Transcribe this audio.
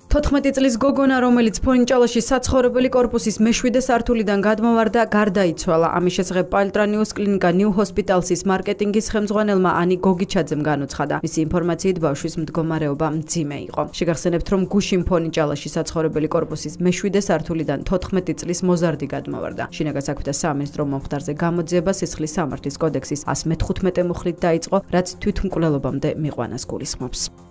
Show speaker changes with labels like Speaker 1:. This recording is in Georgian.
Speaker 1: 14 წლის გოგონა, რომელიც ფონიჭალაში საცხოვრებელი კორპუსის მე-7 სართულიდან გადმოვარდა, გარდაიცვალა. ამის შესახებ პალტრანიუს კლინიკა ნიუ ჰოსპიტალსის მარკეტინგის ხელმძღვანელმა ანი გოგიჩაძემ განუცხადა. მისი ინფორმაციით ბავშვის მდგომარეობა მძიმე იყო. შეგახსენებთ, რომ გუშინ ფონიჭალაში საცხოვრებელი კორპუსის მე-7 სართულიდან 14 წლის მოზარდი გადმოვარდა. შინაგან საქმეთა სამინისტრო მომხდარზე გამოძიება სისხლის სამართლის კოდექსის 115 მუხლით დაიწყო, რაც თვითმკვლელობამდე მიყვანას გულისხმობს.